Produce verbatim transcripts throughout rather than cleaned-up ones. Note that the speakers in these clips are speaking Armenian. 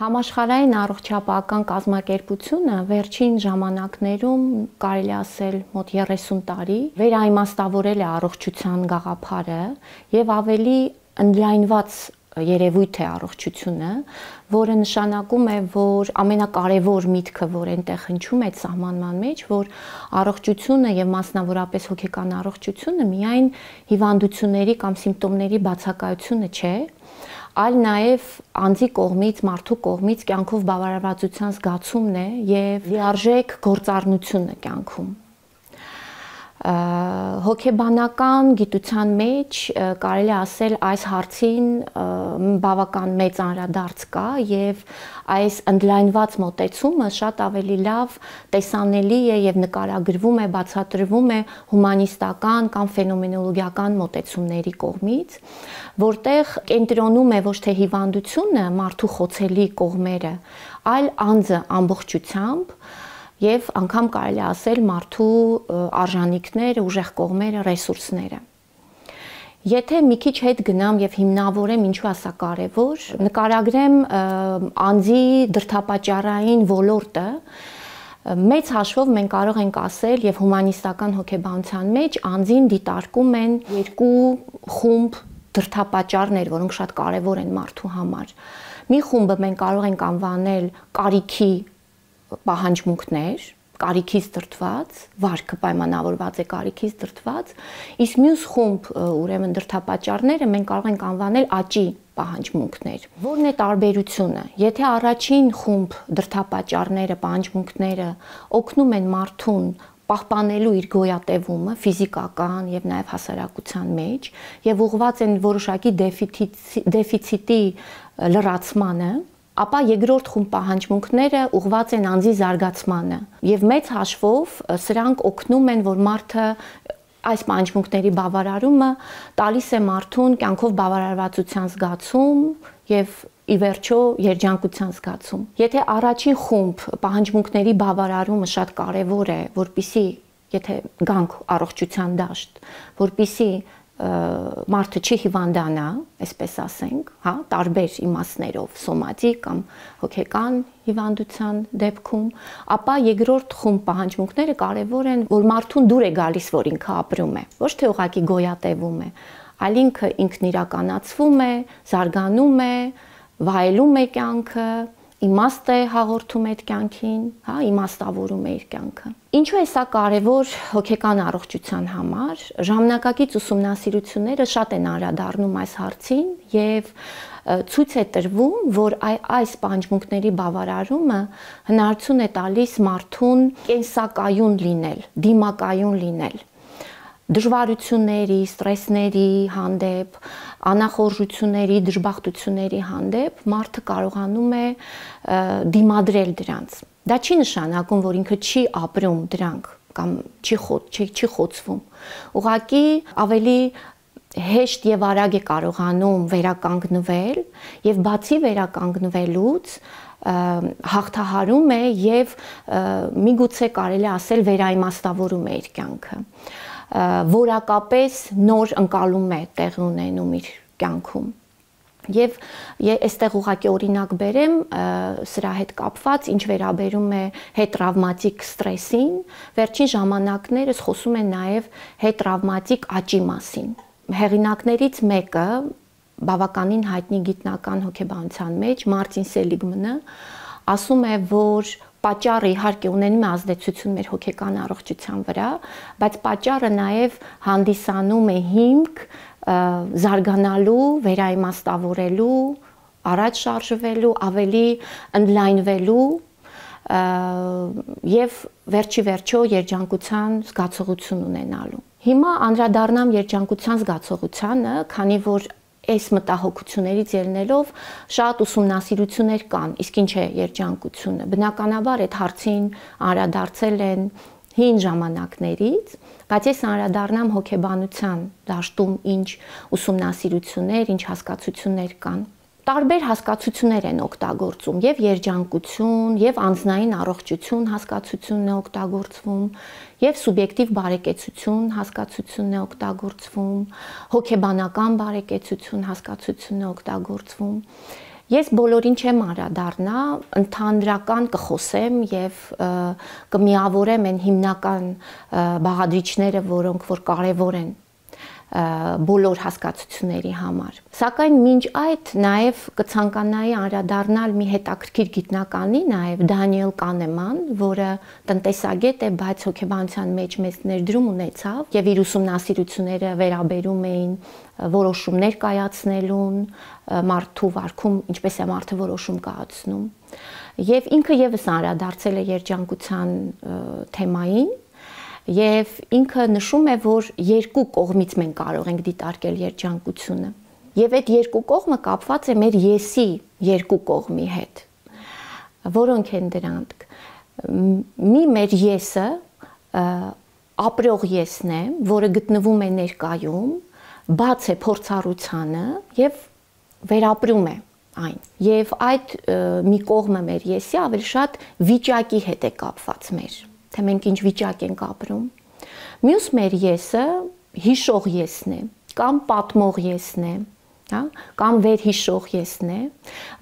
Համաշխարհային առողջապահական կազմակերպությունը վերջին ժամանակներում կարելի ասել մոտ երեսուն տարի վերաիմաստավորել է առողջության գաղափարը եւ ավելի ընդլայնված երևույթ է առողջությունը, որը նշանակում է, որ ամենակարևոր միտքը, որ այնտեղ հնչում է սահմանման մեջ, որ առողջությունը եւ մասնավորապես հոգեկան առողջությունը միայն հիվանդությունների կամ սիմպտոմների բացակայությունը չէ, այլ նաև անձի կողմից, մարդու կողմից կյանքով բավարարվածության զգացումն է եւ լիարժեք գործառնությունը կյանքում։ Հոգեբանական գիտության մեջ կարելի ասել այս հարցին բավական մեծ անդրադարձ կա եւ այս ընդլայնված մոտեցումը շատ ավելի լավ տեսանելի է եւ նկարագրվում է, բացատրվում է հումանիստական կամ ֆենոմենոլոգիական մոտեցումների կողմից, որտեղ կենտրոնում է ոչ թե հիվանդությունը, մարդու խոցելի կողմերը, այլ անձը ամբողջությամբ եւ անգամ կարելի ասել մարդու արժանինքները, ուժեղ կողմերը, ռեսուրսները։ Եթե մի քիչ հետ գնամ եւ հիմնավորեմ ինչու է սա կարեւոր, նկարագրեմ անձի դրդապատճառային ոլորտը, մեծ հաշվով մենք կարող ենք ասել եւ հումանիստական հոգեբանության մեջ անձին դիտարկում են երկու խումբ դրդապատճառներ, որոնք շատ կարեւոր են մարդու համար։ Մի խումբը մենք կարող ենք անվանել կարիքի պահանջմունքներ, կարիքից դրդված, վարքը պայմանավորված է կարիքից դրդված, իսկ մյուս խումբ ուրեմն դրդապատճառները մենք կարող ենք անվանել աճի պահանջմունքներ։ Որն է տարբերությունը։ Եթե առաջին խումբ դրդապատճառները, պահանջմունքները օգնում են մարդուն պահպանելու իր գոյատևումը ֆիզիկական եւ նաեւ հասարակության մեջ եւ ուղղված են որոշակի դեֆիցիտի լրացմանը, ապա երկրորդ խումբ պահանջմունքները ուղղված են անձի զարգացմանը եւ մեծ հաշվով սրանք օգնում են, որ մարդը այս պահանջմունքների բավարարումը տալիս է մարդուն կյանքով բավարարվածության զգացում եւ ի վերջո երջանկության զգացում։ Եթե առաջին խումբ պահանջմունքների բավարարումը շատ կարեւոր է, որպիսի եթե գանք առողջության դաշտ, որպիսի մարդը չի հիվանդանա, այսպես ասենք, հա, տարբեր իմաստներով, սոմատիկ կամ հոգեկան հիվանդության դեպքում, ապա երկրորդ խումբ պահանջմունքները կարևոր են, որ մարդուն դուր է գալիս, որ ինքը ապրում է, ոչ թե ուղղակի գոյատևում է, այլ ինքը ինքն իրականացվում է, զարգանում է, վայելում է կյանքը, իմաստ է հաղորդում այդ կյանքին, հա, իմաստավորում է իր կյանքը։ Ինչու է սա կարևոր հոգեկան առողջության համար։ Ժամանակակից ուսումնասիրությունները շատ են անդրադառնում այս հարցին եւ ցույց է տրվում, որ այս պահանջմունքների բավարարումը հնարություն է տալիս մարդուն կենսակայուն լինել, դիմակայուն լինել։ Դժվարությունների, ստրեսների հանդեպ, անախորժությունների, դժբախտությունների հանդեպ մարդը կարողանում է դիմադրել դրանց։ Դա չի նշանակում, որ ինքը չի ապրում դրանք կամ չի չի, չի խոցվում։ Ուղղակի ավելի հեշտ եւ արագ է կարողանում վերականգնվել եւ բացի վերականգնվելուց հաղթահարում է եւ միգուցե կարելի ասել վերաիմաստավորում է իր կյանքը, որակապես նոր ընկալում է տեղի ունենում իր կյանքում։ Եվ այստեղ ուղղակի օրինակ բերեմ սրա հետ կապված, ինչ վերաբերում է հետտրավմատիկ ստրեսին, վերջին ժամանակներս խոսում են նաև հետտրավմատիկ աճի մասին։ Հեղինակներից մեկը բավականին հայտնի գիտնական հոգեբանության մեջ Մարտին Սելիգմանը ասում է, որ պատճառը իհարկե ունենում է ազդեցություն մեր հոգեկան առողջության վրա, բայց պատճառը նաև հանդիսանում է հիմք զարգանալու, վերաիմաստավորելու, առաջ շարժվելու, ավելի ընդլայնվելու եւ վերջի վերջո երջանկության զգացողություն ունենալու։ Հիմա անդրադառնամ երջանկության զգացողությանը, քանի որ այս մտահոգություններից ելնելով շատ ուսումնասիրություններ կան, իսկ ինչ է երջանկությունը։ Բնականաբար այդ հարցին անդրադարձել են հին ժամանակներից, բայց ես անդրադառնամ հոգեբանության դաշտում ինչ ուսումնասիրություններ, ինչ հասկացություններ կան։ տարբեր հասկացություններ են օգտագործում, եւ երջանկություն, եւ անձնային առողջություն հասկացությունն է օգտագործվում, եւ սուբյեկտիվ բարեկեցություն հասկացությունն է օգտագործվում, հոգեբանական բարեկեցություն հասկացությունն է օգտագործվում։ Ես բոլորին չեմ անդրադառնա, ընդհանրական կխոսեմ եւ կմիավորեմ այն հիմնական բաղադրիչները, որոնք որ կարեւոր են բոլոր հասկացությունների համար։ Սակայն մինչ այդ նաև կցանկանայի անդրադառնալ մի հետաքրքիր գիտնականի, նաև Դանիել Կանեման, որը տնտեսագետ է, բայց հոգեբանության մեջ մեծ ներդրում ունեցավ եւ իր ուսումնասիրությունները վերաբերում էին որոշումներ կայացնելուն, մարդու վարքում, ինչպես է մարդը որոշում կայացնում։ Եվ ինքը եւս անդրադարձել է երջանկության թեմային, եւ ինքը նշում է, որ երկու կողմից մենք կարող ենք դիտարկել երջանկությունը։ Եվ այդ երկու կողմը կապված է մեր եսի երկու կողմի հետ։ Որոնք են դրանք։ Մի մեր եսը ապրող եսն է, որը գտնվում է ներկայում, բաց է փորձառությանը եւ վերապրում է այն։ Եվ այդ մի կողմը մեր եսի ավելի շատ վիճակի հետ է կապված մեր, թե մենք ինչ վիճակ ենք ապրում։ Մյուս մեր եսը հիշող եսն է, կամ պատմող եսն է, հա, կամ վերհիշող եսն է,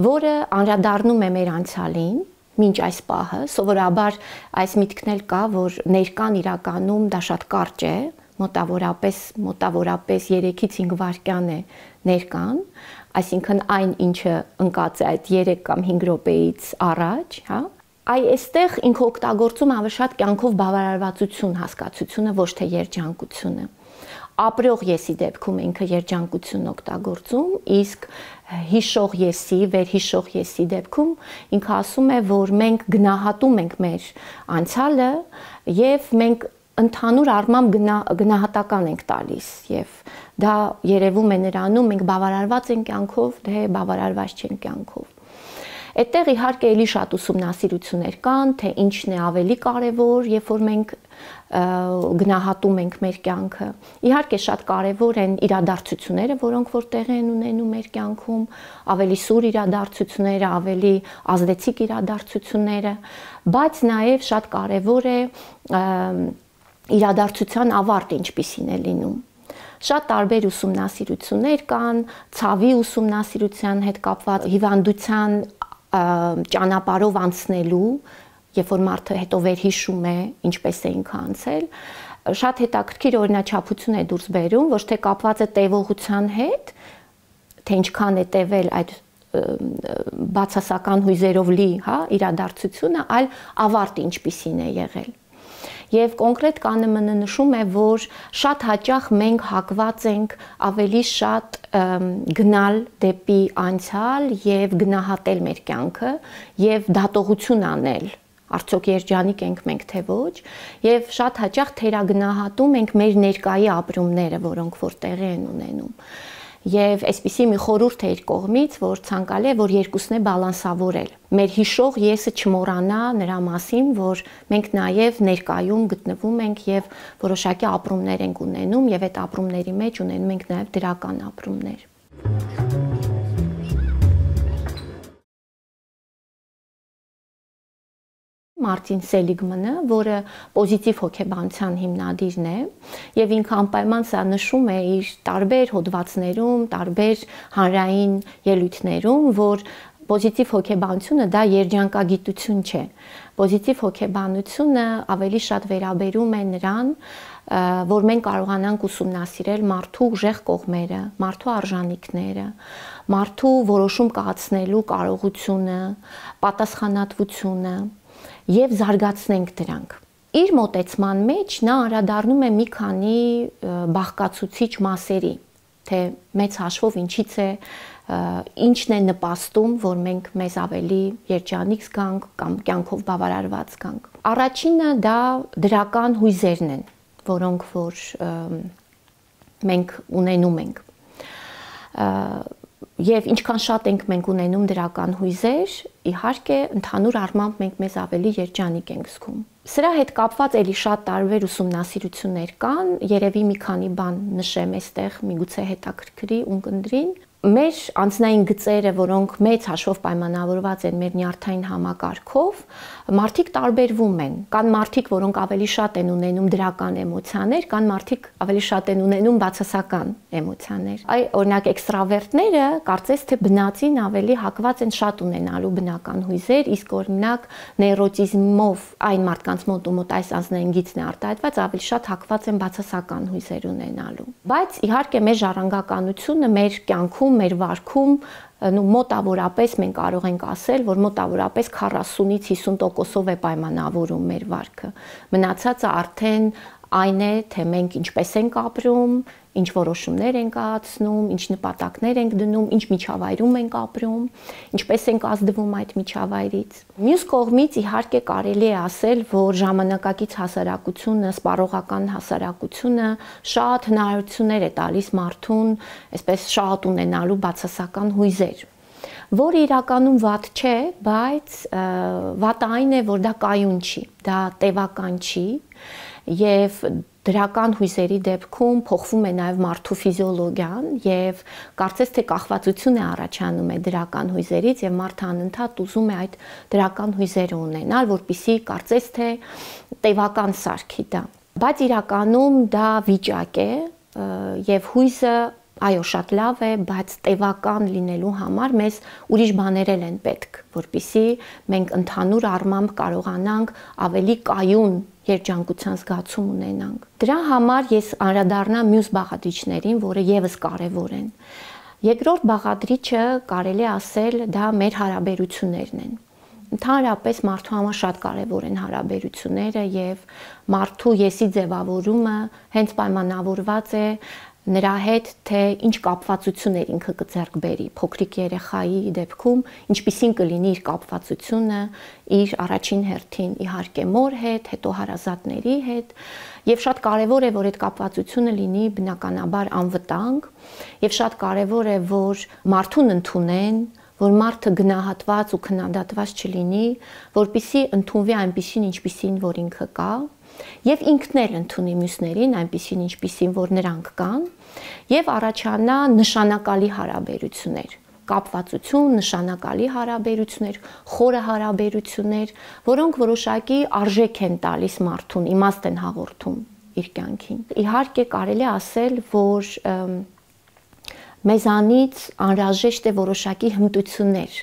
որը անդրադառնում է մեր անցյալին, մինչ այս պահը, սովորաբար այս միտքն էլ կա, որ ներկան իրականում դա շատ կարճ է, մոտավորապես մոտավորապես երեքից հինգ վայրկյան է ներկան, այսինքն այն ինչը ընկած է այդ երեք կամ հինգ րոպեից առաջ, հա։ Այ այստեղ ինքը օգտագործում ավելի շատ կյանքով բավարարվածություն հասկացությունը, ոչ թե երջանկությունը։ Ապրող եսի դեպքում ինքը երջանկությունն օգտագործում, իսկ հիշող եսի, վերհիշող եսի դեպքում ինքը ասում է, որ մենք գնահատում ենք մեր անցյալը եւ մենք ընդհանուր առմամբ գնահատական ենք տալիս եւ դա երևում է նրանում մենք բավարարված ենք կյանքով, թե բավարարված չենք կյանքով։ Այդտեղ իհարկե էլի շատ ուսումնասիրություններ կան, թե ինչն է ավելի կարևոր, երբ որ մենք գնահատում ենք մեր կյանքը։ Իհարկե շատ կարևոր են իրադարձությունները, որոնք որ տեղի են ունենում մեր կյանքում, ավելի սուր իրադարձությունները, ավելի ազդեցիկ իրադարձությունները, բայց նաև շատ կարևոր է իրադարձության ավարտը ինչպիսին է լինում։ Շատ տարբեր ուսումնասիրություններ կան, ցավի ուսումնասիրության հետ կապված, հիվանդության ճանապարհով անցնելու, երբ որ մարդը հետո վերհիշում է, ինչպես է ինքը անցել, շատ հետաքրքիր օրինաչափություն է դուրս բերում, ոչ թե կապված է տևողության հետ, թե ինչքան է տևել այդ բացասական հույզերով լի, հա, իրադարձությունը, այլ ավարտը ինչպիսին է եղել։ Եվ կոնկրետ Կանեմանը նշում է, որ շատ հաճախ մենք հակված ենք ավելի շատ գնալ դեպի անցյալ եւ գնահատել մեր կյանքը եւ դատողություն անել, արդյոք երջանիկ ենք մենք թե ոչ, եւ շատ հաճախ թերագնահատում ենք մեր ներկայի ապրումները, որոնք որ տեղի են ունենում։ Եվ այսպիսի մի խորհուրդ է իր կողմից, որ ցանկալի է, որ երկուսն է բալանսավորել։ Մեր հիշող եսը չմոռանա նրա մասին, որ մենք նաև ներկայում գտնվում ենք եւ որոշակի ապրումներ ենք ունենում եւ այդ ապրումների մեջ ունենում ենք նաև դրական ապրումներ։ Մարտին Սելիգմանը, որը պոզիտիվ հոգեբանության հիմնադիրն է, եւ ինքը անպայման սա նշում է իր տարբեր հոդվածներում, տարբեր հանրային ելույթներում, որ պոզիտիվ հոգեբանությունը դա երջանկագիտություն չէ։ Պոզիտիվ հոգեբանությունը ավելի շատ վերաբերում է նրան, որ մենք կարողանանք ուսումնասիրել մարդու ուժեղ կողմերը, մարդու արժանինքները, մարդու որոշում կայացնելու կարողությունը, պատասխանատվությունը եւ զարգացնենք դրանք։ Իր մոտեցման մեջ նա անդրադառնում է մի քանի բաղկացուցիչ մասերի, թե մեծ հաշվով ինչից է, ինչն է նպաստում, որ մենք մեզ ավելի երջանիկ զգանք կամ կյանքով բավարարված զգանք։ Առաջինը դա դրական հույզերն են, որոնք որ մենք ունենում ենք։ Եվ ինչքան շատ ենք մենք ունենում դրական հույզեր, իհարկե ընդհանուր առմամբ մենք մեզ ավելի երջանիկ ենք զգում։ Սրա հետ կապված էլի շատ տարբեր ուսումնասիրություններ կան, երևի մի քանի բան նշեմ այստեղ, միգուցե հետաքրքրի ունկնդրին։ մեր անձնային գծերը, որոնք մեծ հաշվով պայմանավորված են մեր նյարդային համակարգով, մարդիկ տարբերվում են։ Կան մարդիկ, որոնք ավելի շատ են ունենում դրական էմոցիաներ, կան մարդիկ ավելի շատ են ունենում բացասական էմոցիաներ։ Այ օրինակ էքստրավերտները կարծես թե բնածին ավելի հակված են շատ ունենալու բնական հույզեր, իսկ օրինակ նեյրոտիզմով այն մարդկանց մոտ ու մոտ այս անձնային գիծն է արտահայտված, ավելի շատ հակված են բացասական հույզեր ունենալու։ Բայց իհարկե մեր ժառանգականությունը մեր կյանքում, մեր վարքում նու մոտավորապես մենք կարող ենք ասել, որ մոտավորապես քառասունից հիսուն տոկոսով է պայմանավորում մեր վարքը։ Մնացածը արդեն այն է, թե մենք ինչպես ենք ապրում, ինչ որոշումներ ենք կայացնում, ինչ նպատակներ ենք դնում, ինչ միջավայրում ենք ապրում, ինչպես ենք ազդվում այդ միջավայրից։ Մյուս կողմից իհարկե կարելի է ասել, որ ժամանակակից հասարակությունը, սպառողական հասարակությունը շատ հնարավորություններ է տալիս մարդուն, այսպես շատ ունենալու բացասական հույզեր, որ իրականում վատ չէ, բայց վատը այն է, որ դա կայուն չի, դա տևական չի, եւ դրական հույզերի դեպքում փոխվում է նաև մարդու ֆիզիոլոգիան եւ կարծես թե կախվածություն է առաջանում է դրական հույզերից եւ մարդը անընդհատ ուզում է այդ դրական հույզերը ունենալ, որպեսզի կարծես թե տևական սարքի դա։ Բայց իրականում դա վիճակ է եւ հույզը այո, շատ լավ է, բայց տևական լինելու համար մեզ ուրիշ բաներ են պետք, որպեսզի մենք ընդհանուր առմամբ կարողանանք ավելի կայուն երջանկության զգացում ունենանք։ Դրա համար ես անդրադառնամ մյուս բաղադրիչներին, որը եւս կարեւոր են։ Երկրորդ բաղադրիչը կարելի է ասել դա մեր հարաբերություններն են։ Ընդհանրապես մարդու համար շատ կարևոր են հարաբերությունները եւ մարդու եսի ձևավորումը հենց պայմանավորված է նրա հետ, թե ինչ կապվածություններ ինքը կձեռք բերի փոքրիկ երեխայի դեպքում, ինչպիսին կլինի իր կապվածությունը իր առաջին հերթին իհարկե մոր հետ, հետո հարազատների հետ, եւ շատ կարեւոր է, որ այդ կապվածությունը լինի բնականաբար անվտանգ, եւ շատ կարեւոր է, որ մարդուն ընդունեն, որ մարդը գնահատված ու քննադատված չլինի, որպեսզի ընդունվի այնպիսին, ինչպիսին որ ինքը կա, եւ ինքն էլ ընդունի մյուսներին այնպիսին, ինչպիսին որ նրանք կան, եւ առաջանա նշանակալի հարաբերություններ, կապվածություն, նշանակալի հարաբերություններ, խորը հարաբերություններ, որոնք որոշակի արժեք են տալիս մարդուն, իմաստ են հաղորդում իր կյանքին։ Իհարկե կարելի է ասել, որ մեզանից անհրաժեշտ է որոշակի հմտություններ,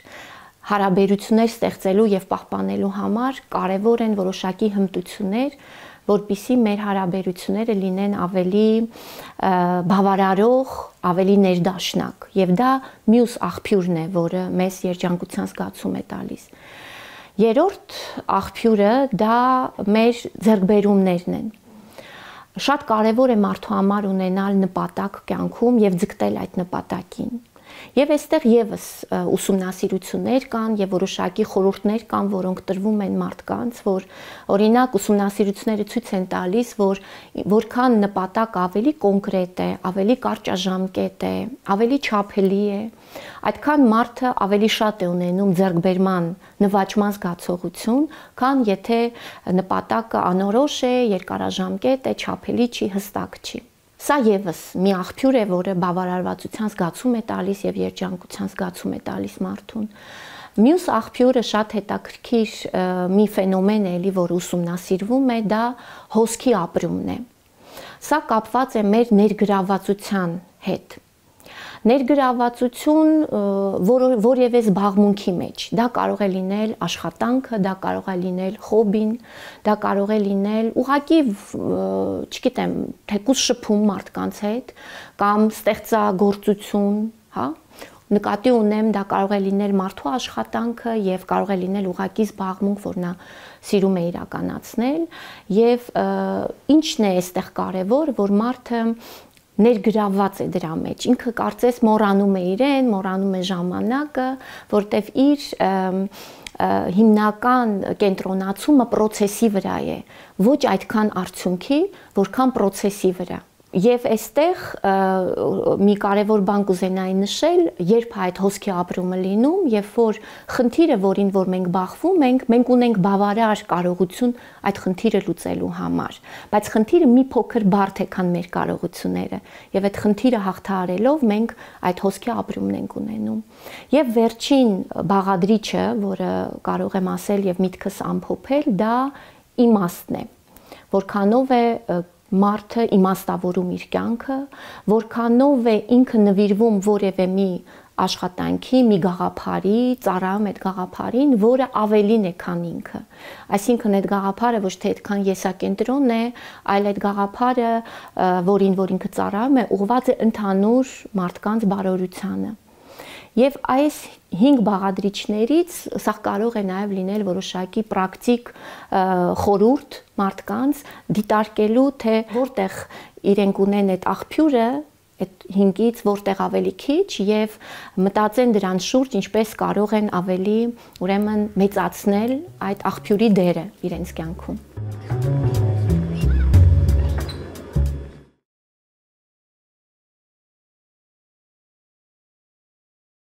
հարաբերություններ ստեղծելու եւ պահպանելու համար կարեւոր են որոշակի հմտություններ, որպեսզի մեր հարաբերությունները լինեն ավելի բավարարող, ավելի ներդաշնակ, եւ դա մյուս աղբյուրն է, որը մեզ երջանկության զգացում է տալիս։ Երրորդ աղբյուրը դա մեր ձեռքբերումներն են։ Շատ կարեւոր է մարդու համար ունենալ նպատակ կյանքում եւ ձգտել այդ նպատակին։ Եվ այստեղ եւս ուսումնասիրություններ կան եւ որոշակի խորհուրդներ կան, որոնք տրվում են մարդկանց, որ օրինակ ուսումնասիրությունները ցույց են տալիս, որ որքան նպատակ ավելի կոնկրետ է, ավելի կարճաժամկետ է, ավելի չափելի է, այդքան մարդը ավելի շատ է ունենում ձեռքբերման նվաճման զգացողություն, քան եթե նպատակը անորոշ է, երկարաժամկետ է, չափելի չի, հստակ չի։ Սա եւս մի աղբյուր է, որը բավարարվածության զգացում է տալիս եւ երջանկության զգացում է տալիս մարդուն։ Մյուս աղբյուրը շատ հետաքրքիր մի ֆենոմեն է, էլի, որ ուսումնասիրվում է, դա հոսքի ապրումն է։ Սա կապված է մեր ներգրավվածության հետ։ Ներգրավվածություն որևէ զբաղմունքի մեջ, դա կարող է լինել աշխատանքը, դա կարող է լինել հոբին, դա կարող է լինել ուղղակի, չգիտեմ, թեկուզ շփում մարդկանց հետ կամ ստեղծագործություն, հա, նկատի ունեմ, դա կարող է լինել մարդու աշխատանքը եւ կարող է լինել ուղղակի զբաղմունք, որ նա սիրում է իրականացնել, եւ ինչն է այստեղ կարեւոր, որ մարդը ներգրավված է դրա մեջ, ինքը կարծես մոռանում է իրեն, մոռանում է ժամանակը, որտեվ իր հիմնական կենտրոնացումը process-ի վրա է, ոչ այդքան արդյունքի, որքան process-ի վրա։ Եվ այստեղ մի կարևոր բան կուզենայի նշել, երբ այդ հոսքի ապրումը լինում, երբ որ խնդիրը, որին որ մենք բախվում ենք, մենք ունենք բավարար կարողություն այդ խնդիրը լուծելու համար, բայց խնդիրը մի փոքր բարդ է, քան մեր կարողությունները, եւ այդ խնդիրը հաղթահարելով մենք այդ հոսքի ապրումն ենք ունենում։ Եվ վերջին բաղադրիչը, որը կարող եմ ասել եւ միտքս ամփոփել, դա իմաստն է, որքանով է մարդը իմաստավորում իր կյանքը, որքանով է ինքը նվիրվում որևէ մի աշխատանքի, մի գաղափարի, ծառայում այդ գաղափարին, որը ավելին է, քան ինքը։ Այսինքն այդ գաղափարը ոչ թե այդքան եսակենտրոն է, այլ այդ գաղափարը, որին որ ինքը ծառայում է, ուղղված է ընդհանուր մարդկանց բարօրությանը։ Եվ այս հինգ բաղադրիչներից սա կարող է նաև լինել որոշակի պրակտիկ խորհուրդ մարդկանց դիտարկելու, թե որտեղ իրենք ունեն այդ աղբյուրը, այդ հինգից որտեղ ավելի քիչ, եւ մտածեն դրան շուրջ, ինչպես կարող են ավելի, ուրեմն, մեծացնել այդ աղբյուրի դերը իրենց կյանքում։